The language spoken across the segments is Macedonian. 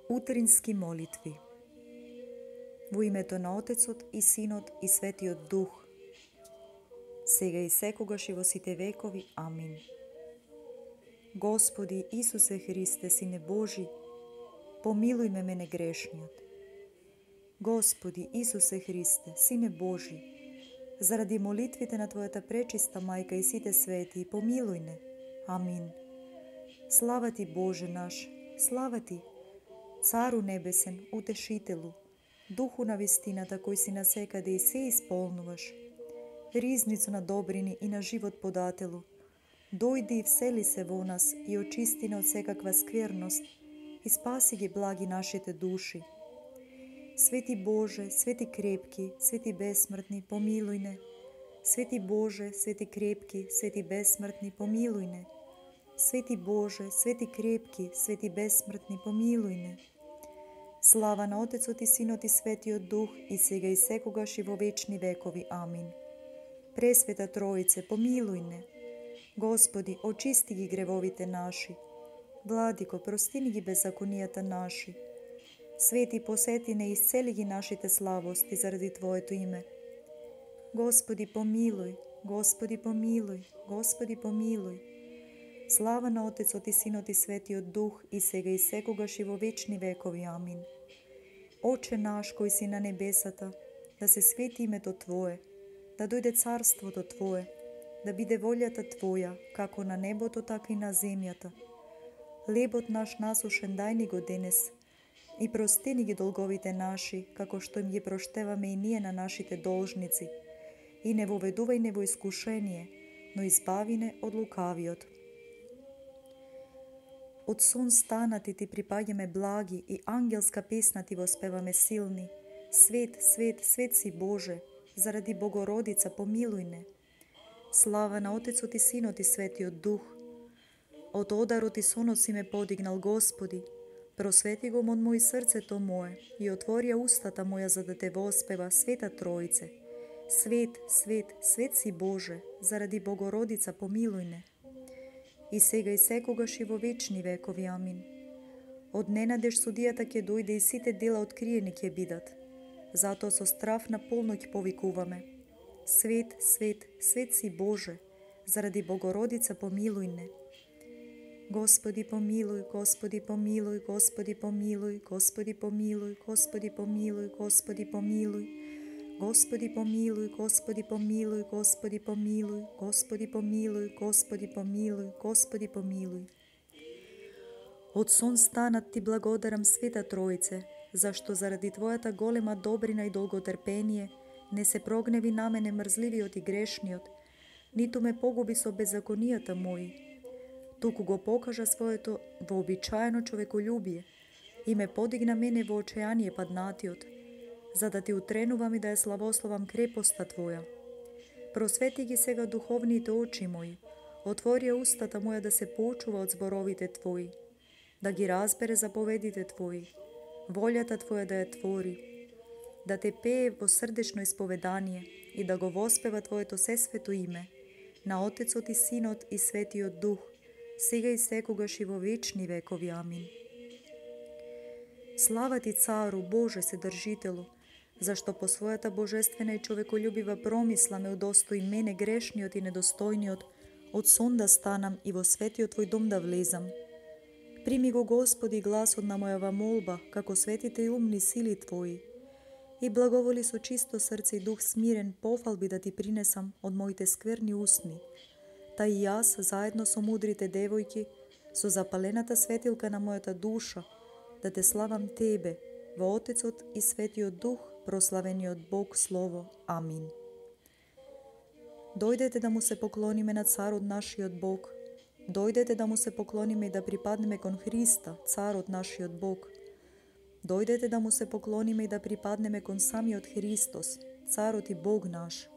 Утрински молитви. Во името на Отецот и Синот и Светиот Дух, сега и секогаш и во сите векови. Амин. Господи Исусе Христе, Сине Божи, помилуј ме мене грешниот. Господи Исусе Христе, Сине Божи, заради молитвите на Твојата пречиста Мајка и сите свети, помилуј не. Амин. Слава Ти, Боже наш, слава Ти, Цару Небесен, Утешителу, Духу на вистината кој си насекаде и се исполнуваш, ризницу на добрини и на живот подателу, дојди и всели се во нас и очисти не од секаква скверност и спаси ги благи нашите души. Свети Боже, свети крепки, свети бесмртни, помилуј не. Свети Боже, свети крепки, свети бесмртни, помилуј не. Свети Боже, свети крепки, свети бесмртни, помилуј не. Слава на Отецот и Синот и Светиот Дух, и сега и секогаш и во вечни векови. Амин. Пресвета Троице, помилуј не. Господи, очисти ги гревовите наши. Владико, прости ни ги беззаконијата наши. Свети, посети не, исцели ги нашите слабости заради Твоето име. Господи, помилуј, Господи, помилуј, Господи, помилуј. Слава на Отецот и Синот и Светиот Дух, и сега и секогаш и во вечни векови. Амин. Оче наш кој си на небесата, да се свети името Твое, да дојде царството Твое, да биде волјата Твоја, како на небото, така и на земјата. Лебот наш насушен дај ни го денес, и прости ни ги долговите наши, како што им ги проштеваме и ние на нашите должници. И не воведувај не во искушение, но избави не од лукавиот. Од сон станати Ти припаѓаме благи и ангелска песна Ти воспеваме силни. Свет, свет, свет си Боже, заради Богородица помилуј не. Слава на Отецот и Синот и Светиот Дух. Од одарот и сонот си ме подигнал, Господи. Просвети го од мој срцето мое и отворија устата моја за да Те воспева, Света Троице. Свет, свет, свет си Боже, заради Богородица помилуј не. И сега и секогаш и во вечни векови. Амин. Од ненадеж судијата ќе дојде и сите дела откриени ќе бидат. Затоа со страв на полноќ повикуваме. Свет, свет, свет си Боже, заради Богородица помилуј не. Господи помилуј, Господи помилуј, Господи помилуј, Господи помилуј, Господи помилуј, Господи помилуј. Господи помилуј, Господи помилуј, Господи помилуј, Господи помилуј, Господи помилуј, Господи помилуј. Од сон станат Ти благодарам, Света Троице, зашто заради Твојата голема добрина и долготрпение не се прогневи на мене мрзливиот и грешниот, ниту ме погуби со беззаконијата мои, туку го покажа своето вообичаено човеколюбие и ме подигна мене во очајание паднатиот, за да Ти утренувам и да ја славословам крепоста Твоја. Просвети ги сега духовните очи мои, отвори устата моја да се поучува од зборовите Твои, да ги разбере заповедите Твои, волјата Твоја да ја твори, да Те пее во срдечно исповедание и да го воспева Твоето сесвето име, на Отецот и Синот и Светиот Дух, сега и секогаш и во вечни векови. Амин. Слава Ти, Цару, Боже Седржителу, зашто по својата божествена и човеколюбива промисла ме удостои мене грешниот и недостојниот од сон да станам и во светиот Твој дом да влезам. Прими го, Господи, гласот на мојава молба, како светите и умни сили Твои, и благоволи со чисто срце и дух смирен пофалби да Ти принесам од моите скверни устни, та и јас, заедно со мудрите девојки, со запалената светилка на мојата душа, да Те славам Тебе, во Отецот и Светиот Дух, прославениот Бог Слово. Амин. Дојдете да му се поклониме на Царот нашиот Бог. Дојдете да му се поклониме и да припаднеме кон Христа, Царот нашиот Бог. Дојдете да му се поклониме и да припаднеме кон самиот Христос, Царот и Бог наш.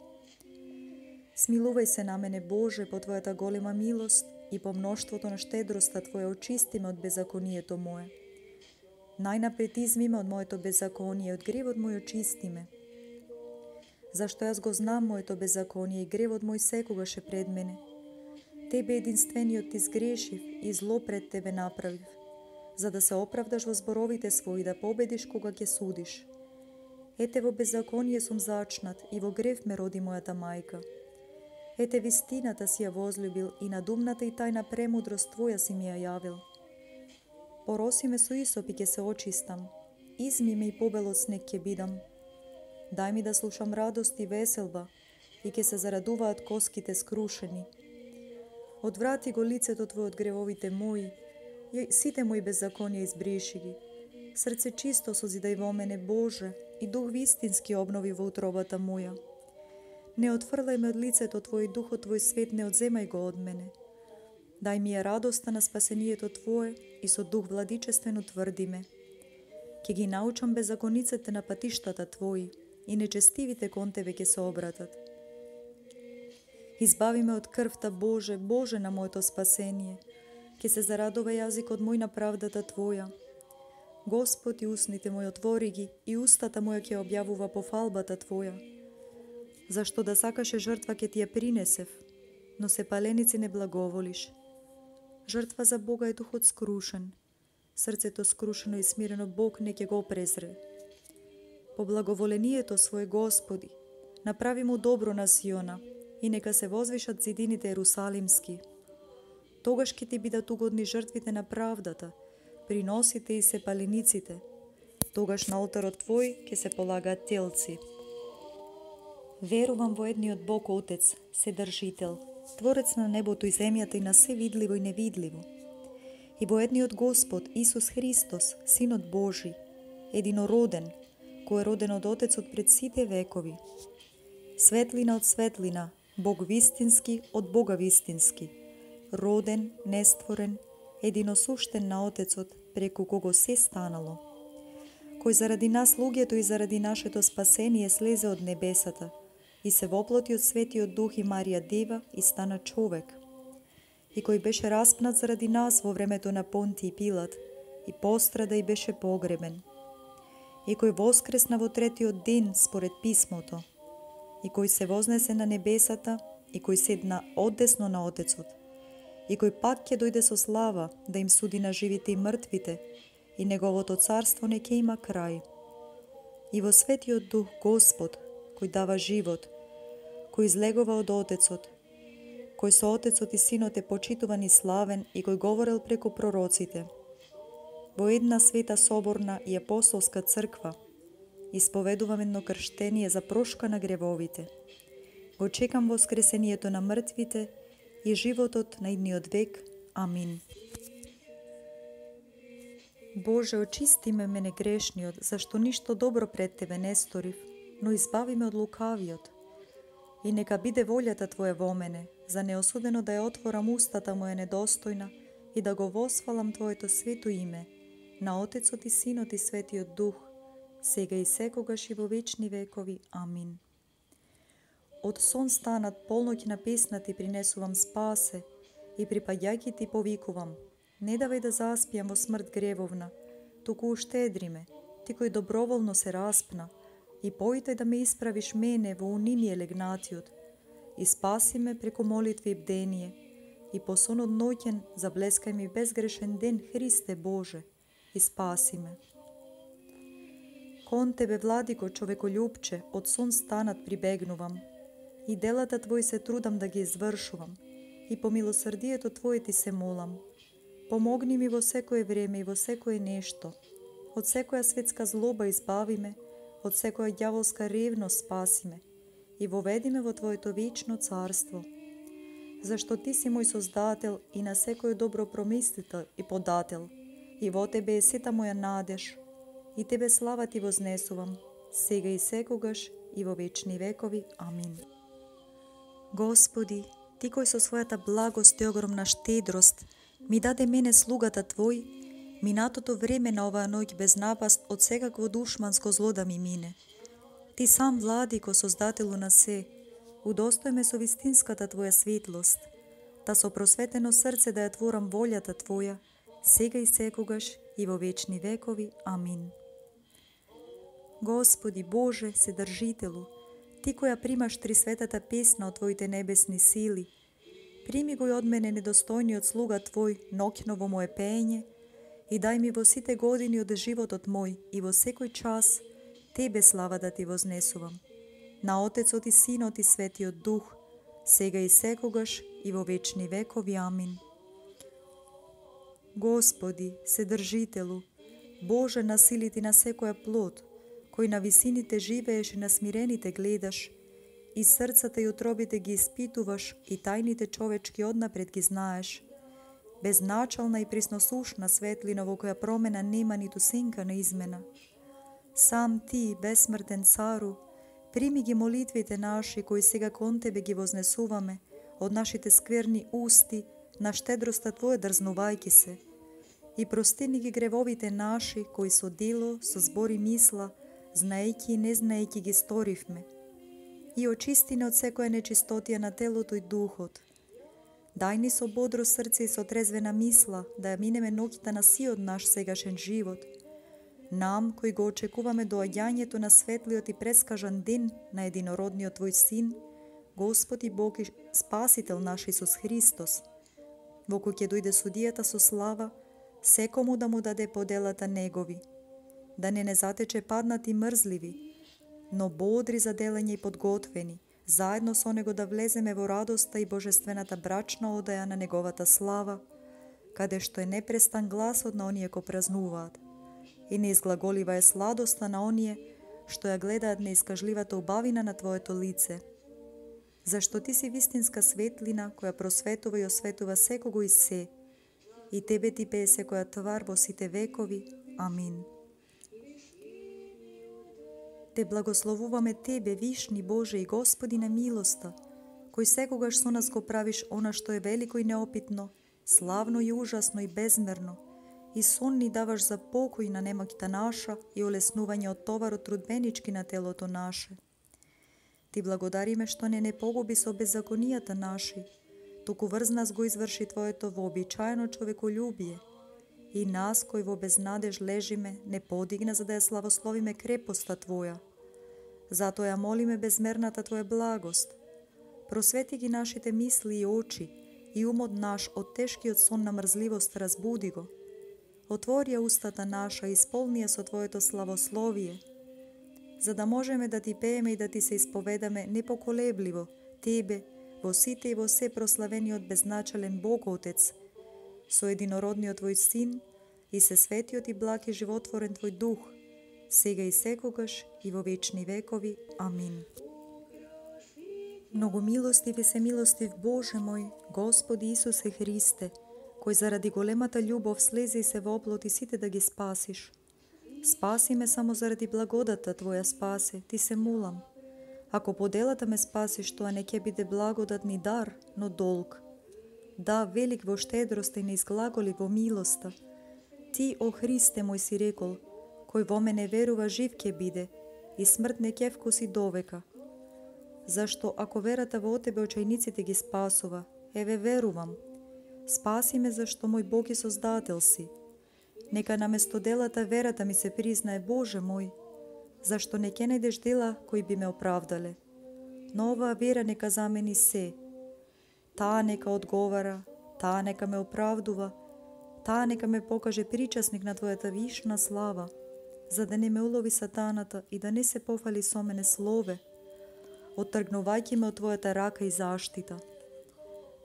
Смилувај се на мене, Боже, по Твојата голема милост и по мноштвото на штедроста Твоја очисти ме од беззаконието мое. Најнапред изми ме од моето беззаконие, од гревот мој очисти ме. Зашто јас го знам моето беззаконие и гревот мој секогаш е пред мене. Тебе единствениот Ти сгрешив и зло пред Тебе направив. за да се оправдаш во зборовите своји, да победиш кога ќе судиш. Ете во беззаконие сум зачнат и во грев ме роди мојата мајка. Ете вистината си ја возлюбил и на думната и тајна премудрост Твоја си ми ја јавил. Пороси ме со Исоп и ќе се очистам, изми ме и побел од снег ќе бидам. Дај ми да слушам радост и веселба и ќе се зарадуваат коските скрушени. Одврати го лицето Твое од гревовите мои, сите мои беззаконија избриши ги. Срце чисто созидај во мене, Боже, и дух вистински обнови во утробата моја. Не отфрлај ме од лицето Твое и духот Твој свет не одземај го од мене. Дај ми ја радоста на спасението Твое и со дух владичествен утврди ме. Ке ги научам беззакониците на патиштата Твои и нечестивите кон Тебе ќе се обратат. Избави ме од крвта, Боже, Боже на моето спасение. Ке се зарадува јазикот мој на правдата Твоја. Господ, и устните мои отвори ги, и устата моја ќе објавува пофалбата Твоја. Зашто да сакаше жртва ќе ти ја принесев, но се паленици не благоволиш. Жртва за Бога е духот скрушен. Срцето скрушено и смирено Бог не ќе го презре. По благоволението Своje Господи, направи му добро на Сиона и нека се возвишат зидините Ерусалимски. Тогаш ќе ти бидат угодни жртвите на правдата, приносите и се палениците. Тогаш на олтарот Твој ќе се полагаат телци. Верувам во едниот Бог Отец, Вседржител, Творец на небото и земјата и на се видливо и невидливо. И во едниот Господ, Исус Христос, Синот Божи, единороден, кој е роден од Отецот пред сите векови. Светлина од светлина, Бог вистински од Бога вистински, роден, нестворен, единосуштен на Отецот, преку кого се станало, кој заради нас луѓето и заради нашето спасение слезе од небесата и се воплоти од Светиот Дух и Марија Дева и стана човек, и кој беше распнат заради нас во времето на Понти и Пилат и пострада и беше погребен, и кој воскресна во третиот ден според писмото, и кој се вознесе на небесата, и кој седна одесно на Отецот, и кој пак ќе дојде со слава да им суди на живите и мртвите, и неговото царство не ќе има крај. И во Светиот Дух Господ, кој дава живот, кој излегува од Отецот, кој со Отецот и Синот е почитуван и славен и кој говорел преку пророците, во една света соборна и апостолска црква, исповедувам едно крштение за прошка на гревовите. Го чекам воскресението на мртвите и животот на идниот век. Амин. Боже, очисти ме мене грешниот, зашто ништо добро пред Тебе не сторив, но избави ме од лукавиот. И нека биде волјата Твоја во мене, за неосудено да ја отворам устата моја недостојна и да го восфалам Твоето свето име, на Отецот и Синот и Светиот Дух, сега и секогаш и во вечни векови. Амин. Од сон станат, полноќ на песна Ти принесувам спасе и припаѓајќи Ти повикувам: не давај да заспијам во смрт гревовна, туку уштедри ме, Ти кој доброволно се распна, и поитај да ме исправиш мене во униние легнатиот, и спаси ме преку молитви и бдение, и по сонот ноќен заблескај ми безгрешен ден, Христе Боже, и спаси ме. Кон Тебе, Владико, човеколюбче, од сон станат прибегнувам, и делата Твои се трудам да ги извршувам, и по милосрдието Твое Ти се молам. Помогни ми во секое време и во секое нешто. Од секоја светска злоба избави ме, од секоја ѓаволска ревност спаси ме и воведи ме во Твоето вечно царство. Зашто Ти си мој создател и на секој добро промислител и подател, и во Тебе е сета моја надеж, и Тебе слава Ти вознесувам, сега и секогаш и во вечни векови. Амин. Господи, Ти кој со својата благост и огромна штедрост ми даде мене слугата Твој, минатото време на оваа ноќ без напаст од секакво душманско зло да ми мине. Ти сам, Владико, создателу на се, удостој ме со вистинската Твоја светлост, та со просветено срце да ја творам волјата Твоја, сега и секогаш и во вечни векови. Амин. Господи Боже, Вседржителу, Ти која примаш трисветата песна од Твоите небесни сили, прими го и од мене недостојниот слуга Твој ноќно во моje пење и дај ми во сите години од животот мој и во секој час Тебе слава да Ти вознесувам. На Отецот и Синот и Светиот Дух, сега и секогаш и во вечни векови. Амин. Господи, Седржителу, Боже на силите на секоја плод, кој на висините живееш и на смирените гледаш, и срцата и утробите ги испитуваш и тајните човечки однапред ги знаеш, безначална и присносушна светлина во која промена нема ниту сенка на измена. Сам Ти, безсмртен Цару, прими ги молитвите наши, кои сега кон Тебе ги вознесуваме, од нашите скверни усти, на штедроста Твоја дрзнувајки се, и прости ни ги гревовите наши, кои со дело, со збори мисла, знаејки и не знаејки ги сторивме, и очисти ни од секоја нечистотија на телото и духот. Дај ни со бодро срце и со трезвена мисла да ја минеме ноќта на сиот наш сегашен живот. Нам, кои го очекуваме доаѓањето на светлиот и прескажан ден на единородниот Твој Син, Господ и Бог и Спасител наш Исус Христос, во кој ќе дојде судијата со слава, секому да му даде поделата негови, да не затече паднати мрзливи, но бодри за делење и подготвени, заедно со него да влеземе во радоста и божествената брачна одаја на неговата слава, каде што е непрестан гласот на оние кои празнуваат, и не изглаголива е сладоста на оние што ја гледаат неискажливата убавина на Твоето лице. Зашто Ти си вистинска светлина, која просветува и осветува секого и се, и Тебе Ти пее секоја твар во сите векови. Амин. Те благословуваме Тебе, вишни Боже и Господи на милоста, кој секогаш со нас го правиш она што е велико и неопитно, славно и ужасно и безмерно, и сон ни даваш за покој на немоќта наша и олеснување од товарот трудбенички на телото наше. Ти благодариме што не погуби со беззаконијата наши, туку врз нас го изврши Твоето вообичаено човеколюбие, и нас, кои во безнадеж лежиме, не подигна за да ја славословиме крепоста Твоја. Затоа ја молиме безмерната Твоја благост. Просвети ги нашите мисли и очи, и умот наш од тешкиот сон на мрзливост разбуди го. Отвори ја устата наша и исполни ја со Твоето славословие, за да можеме да Ти пееме и да Ти се исповедаме непоколебливо, Тебе, во сите и во се прославениот безначален Бог Отец, со единородниот Твој Син и се светиот и благ и животворен Твој Дух, сега и секогаш и во вечни векови. Амин. Многу милостив и семилостив Боже мој, Господи Исусе Христе, кој заради големата љубов слезе и се воплоти сите да ги спасиш. Спаси ме само заради благодата Твоја спасе, Ти се мулам. Ако по делата ме спасиш, тоа не ќе биде благодат ни дар, но долг. Да, велик во штедрост и не изглаголи во милоста. Ти, о Христе мој, си рекол, кој во мене верува жив ќе биде, и смрт не ќе вкуси довека. Зашто ако верата во Тебе очајниците ги спасува, еве верувам. Спаси ме зашто мој Бог и Создател си. Нека наместо делата верата ми се признае, Боже мој, зашто не ќе најдеш дела кои би ме оправдале. Но оваа вера нека замени се. Таа нека одговара, таа нека ме оправдува, таа нека ме покаже причасник на Твојата вишна слава, за да не ме улови сатаната и да не се пофали со мене слове, оттргнувајќи ме од Твојата рака и заштита.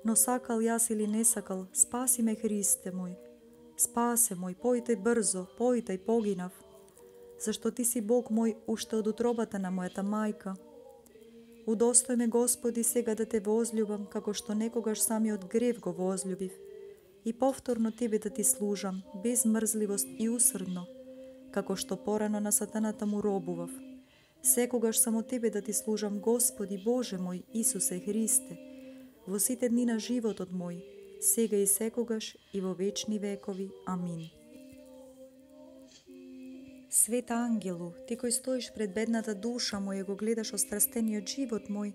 Но сакал јас или не сакал, спаси ме Христе мој. Спасе мој, појтај брзо, појтај погинав, зашто Ти си Бог мој уште од утробата на мојата мајка. Удостој ме, Господи, сега да Те возљубам, како што некогаш самиот грев го возљубив, и повторно Тебе да Ти служам, без мрзливост и усрдно, како што порано на сатаната му робував. Секогаш само Тебе да Ти служам, Господи, Боже мој, Исусе Христе, во сите дни на животот мој, сега и секогаш и во вечни векови. Амин. Свет ангелу, Ти кој стоиш пред бедната душа моја, го гледаш острастениот живот мој,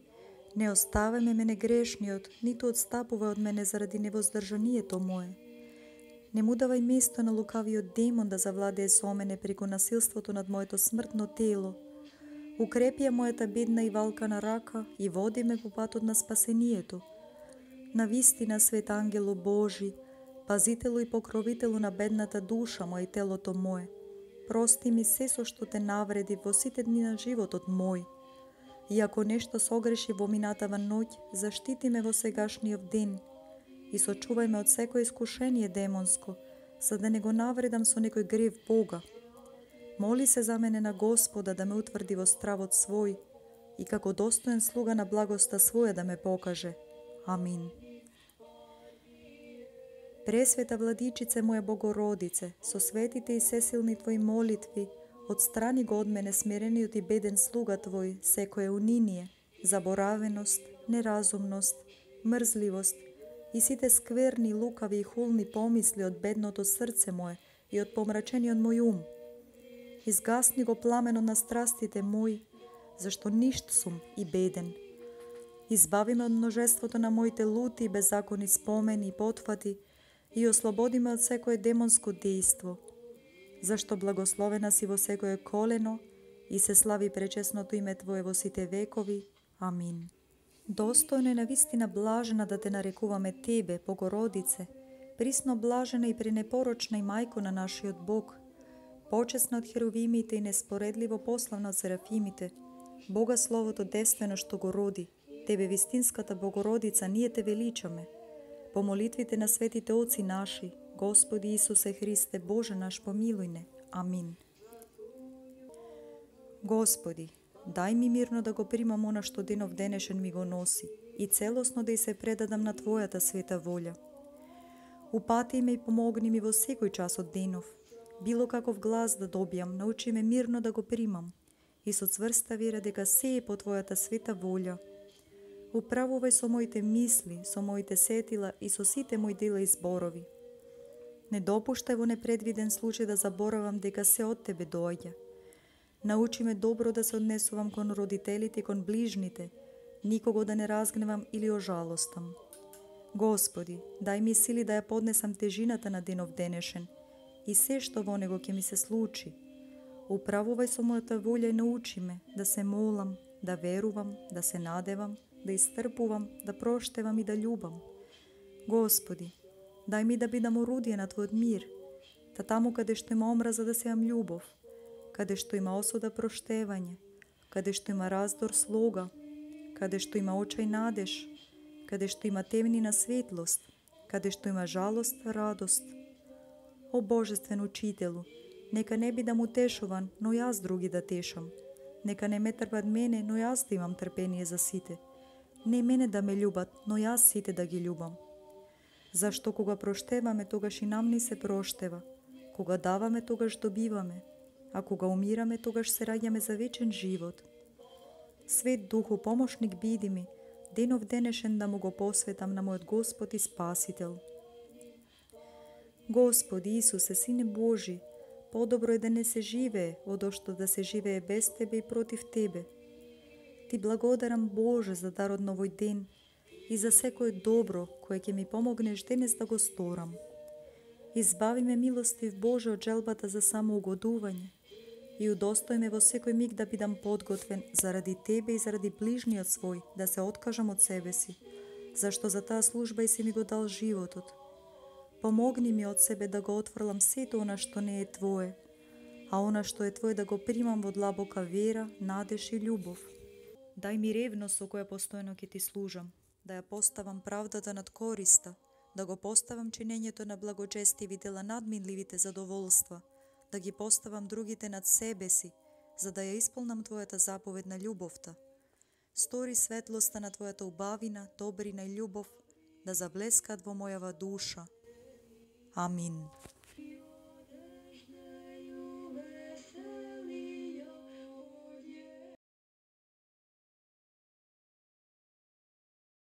не оставај мене грешниот, ниту отстапувај од мене заради невоздржанието мое. Не му давај место на лукавиот демон да завладее со мене преку насилството над моето смртно тело. Укрепи ја мојата бедна и валкана рака и води ме по патот на спасението. Навистина, свет ангелу Божи, Пазителу и покровителу на бедната душа моја и телото мое, прости ми се со што те навреди во сите дни на животот мој. И ако нешто согреши во минатава ноќ, заштити ме во сегашниот ден и сочувај ме од секој искушение демонско, за да не го навредам со некој грев Бога. Моли се за мене на Господа да ме утврди во стравот свој и како достоен слуга на благоста своја да ме покаже. Амин. Пресвета Владичице моја Богородице, со светите и сесилни Твои молитви, отстрани го од мене смирениот и беден слуга Твој секое униние, заборавеност, неразумност, мрзливост и сите скверни, лукави и хулни помисли од бедното срце мое и од помрачениот мој ум. Изгасни го пламенот на страстите мои, зашто ништ сум и беден. Избави ме од множеството на моите лути и беззаконни спомени и потфати и ослободи ме од секое демонско дејство, зашто благословена си во секое колено и се слави пречесното име Твое во сите векови. Амин. Достојно е навистина блажена да те нарекуваме Тебе, Богородице, присно блажена и пренепорочна и мајко на нашиот Бог, почесна од херувимите и неспоредливо пославна од серафимите, Бога Словото действено што го роди, Тебе вистинската Богородица, ние те величаме. По молитвите на светите оци наши, Господи Исусе Христе, Боже наш, помилуј не. Амин. Господи, дај ми мирно да го примам она што денов денешен ми го носи и целосно да и се предадам на Твојата света волја. Упати ме и помогни ми во секој час од денов. Било каков глас да добијам, научи ме мирно да го примам и со цврста вера дека се е по Твојата света волја. Управувај со моите мисли, со моите сетила и со сите мои дела и зборови. Не допуштај во непредвиден случај да заборавам дека се од Тебе доаѓа. Научи ме добро да се однесувам кон родителите и кон ближните, никого да не разгневам или ожалостам. Господи, дај ми сили да ја поднесам тежината на денов денешен и се што во него ќе ми се случи. Управувај со мојата волја и научи ме да се молам, да верувам, да се надевам, да истрпувам, да проштевам и да љубам. Господи, дај ми да бидам орудие на Твојот мир, та таму каде што има омраза да сеам љубов, каде што има осуда проштевање, каде што има раздор слога, каде што има очај надеж, каде што има темнина светлост, каде што има жалост радост. О Божествен Учителу, нека не бидам утешуван, но јас други да тешам. Нека не ме трпат мене, но јас да имам трпение за сите. Не мене да ме љубат, но јас сите да ги љубам. Зашто кога проштеваме, тогаш и нам ни се проштева. Кога даваме, тогаш добиваме. А кога умираме, тогаш се раѓаме за вечен живот. Свет Духу, помошник биди ми, денов денешен да му го посветам на мојот Господ и Спасител. Господи Исусе, Сине Божи, подобро е да не се живее, одошто да се живее без Тебе и против Тебе. Ти благодарам, Боже, за дарот на овој ден и за секое добро кое ќе ми помогнеш денес да го сторам. Избави ме, милостив Боже, од желбата за самоугодување и удостој ме во секој миг да бидам подготвен заради Тебе и заради ближниот свој, да се откажам од себе си, зашто за таа служба и си ми го дал животот. Помогни ми од себе да го отфрлам сето она што не е Твое, а она што е Твое да го примам во длабока вера, надеж и љубов. Дај ми ревност со која постојано ќе Ти служам, да ја поставам правдата над користа, да го поставам чинењето на благочестиви дела над минливите задоволства, да ги поставам другите над себе си, за да ја исполнам Твојата заповед на љубовта. Стори светлоста на Твојата убавина, добрина и љубов да заблескат во мојава душа. Амин.